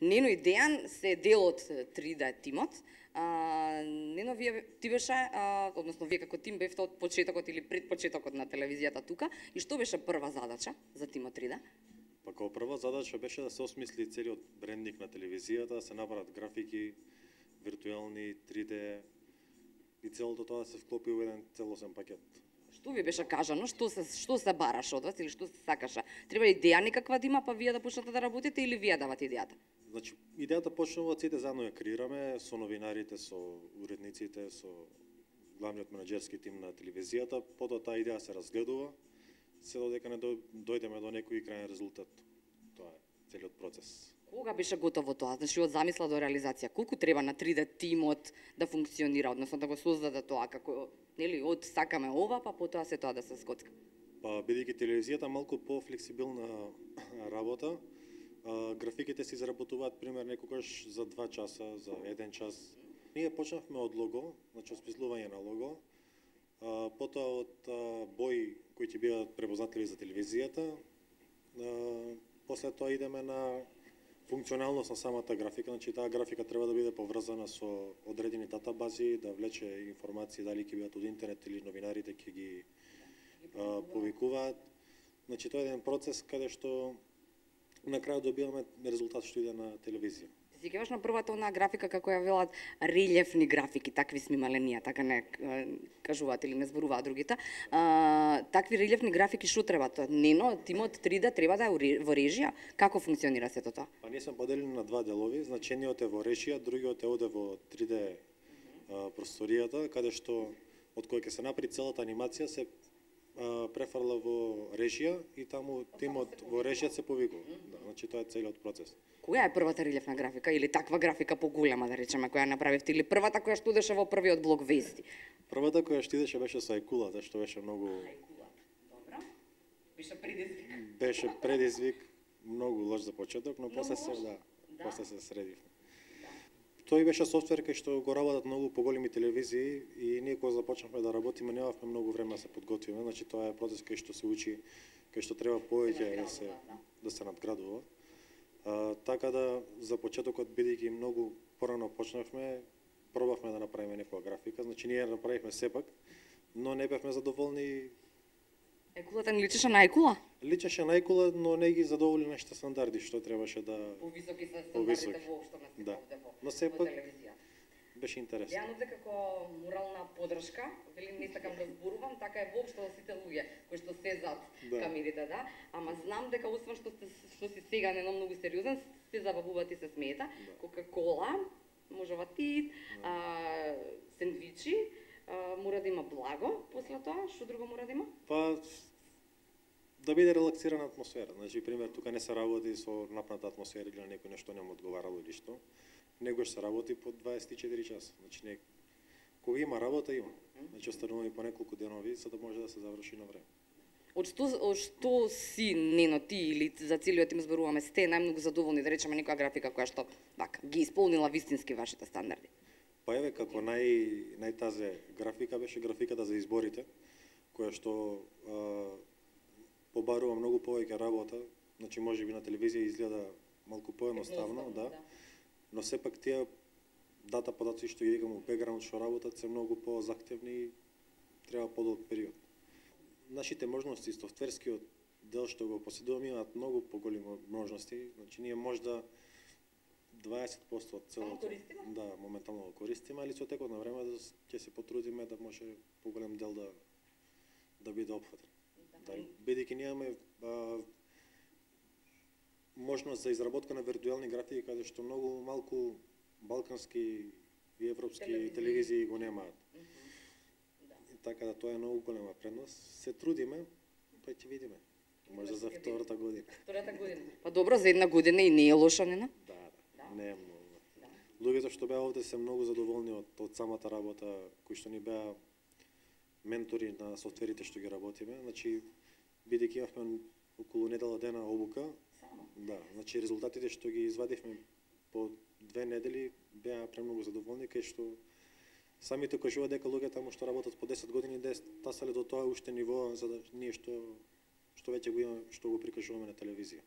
Нено и Дејан се дел од 3D тимот. Нено, ти беше, односно вие како тим бевте од почетокот или пред почетокот на телевизијата тука, и што беше прва задача за тимот 3D? Па како прва задача беше да се осмисли целиот брендинг на телевизијата, да се направат графики, виртуелни, 3D и целото тоа да се вклопи во еден целосен пакет. Што ви беше кажано, што се бараше од вас или што се сакаше? Треба идеја некаква да има, па вие да почнете да работите или вие давате идејата? Значи, идејата почнува од сите заедно ја креираме со новинарите, со уредниците, со главниот менаџерски тим на телевизијата, потоа таа идеја се разгледува, се додека не дојдеме до некој крајен резултат. Тоа е целиот процес. Кога беше готово тоа? Значи од замисла до реализација, колку треба на 3D тимот да функционира, односно да го создаде тоа, како, нели, од сакаме ова, па потоа се тоа да се скоцка? Па, бидејќи телевизијата малку пофлексибилна работа, графиките се изработуваат пример некогаш за 2 часа, за 1 час. Ние почнавме од лого, значи осмислување на лого, потоа од бои кои ќе бидат препознатливи за телевизијата, после тоа идеме на функционалност на самата графика, значи таа графика треба да биде поврзана со одредени датабази, да влече информации дали ќе бидат од интернет или новинарите ќе ги повикуваат. Значи тоа е еден процес каде што на крај добиваме резултат што иде на телевизија. Ти сеќаваш на првата онаа графика како ја велат релјефни графики, такви сме имале ние, така не кажуваат или не зборуваат другите. Такви релјефни графики што треба тоа? Нено, тимот 3D треба да е во режија? Како функционира сето тоа? Па ние сме поделени на 2 делови, значениот е во режија, другиот е оде во 3D просторијата, каде што од кој ќе се направи целата анимација се префрла во режија и таму тимот во режија се повикува. Да, значи тоа е целиот процес. Која е првата релјефна графика или таква графика поголема, да речеме, која направивте, или првата која што идеше во првиот блок вести? Првата која што идеше беше со Ајкулата, што беше многу... Ајкула, добро. Беше предизвик. Беше предизвик, многу лош за почеток, но после се, после се средивме. Тој беше софтвер кај што го работат многу поголеми телевизии и ние кога започнавме да работиме немавме многу време да се подготвиме, значи тоа е процес кај што се учи, кај што треба повеќе да се надградува. Така да за почетокот бидејќи многу порано почнавме, пробавме да направиме некоја графика, значи ние направивме сепак, но не бевме задоволни. Ајкулата не личеше на Ајкула? Личеше на Ајкула, но не ги задоволи нашите стандарди, што требаше да... Повисоки се стандардите воопшто на да. овде Но сепак телевизија. беше интересно. Дејанот е како морална подршка, вели не сакам да зборувам, така е воопшто за сите луѓе кои што се зад камерите, да. Ама знам дека освен што си сега на многу сериозен, се забавувате и се смеете. Кока-кола, можева ти, сендвичи, мора да има благо после тоа, што друго мора да има? Па да биде релаксирана атмосфера. Значи, пример, тука не се работи со напната атмосфера или на некој нешто нема одговарало или што. Негош се работи по 24 часа. Значи, кога има работа, има. Значи, остануваме по неколку денови, за да може да се заврши на време. Од што си, Нено, ти или за целиот тим зборуваме, сте најмногу задоволни, да речеме, некоја графика која што ги исполнила вистински вашите стандарди? Па еве, како најтазе графика беше графиката за изборите, која што побарува многу повеќе работа, значи можеби на телевизија изгледа малку поедноставно, да. Но сепак тие дата податоци што ги имаме во бекграунд што работат се многу позахтевни и треба подолг период. Нашите можности, софтверскиот дел што го поседуваме имаат многу поголеми можности, значи ние можда 20% од целото моментално го користиме, али со текот на време ќе се потрудиме да може поголем дел да биде опфатен. Да, бидејќи ние имаме можност за изработка на виртуелни графики каде што многу малку балкански и европски телевизии го немаат. Така да тоа е многу голема предност. Се трудиме, па ќе видиме. Може за втората година. Втората година. Па добро, за една година и не е лоша, Нена? Да, не е многу. Луѓето што беа овде се многу задоволни од самата работа, кои што ни беа ментори на софтверите што ги работиме. Значи, бидејќи имавме околу недела дена обука, да, значи резултатите што ги извадивме по 2 недели беа премногу задоволни, кај што самите кажуваат дека луѓе таму што работат по 10 години тасале до тоа уште ниво за да ние што веќе го имаме, што го прикажуваме на телевизија.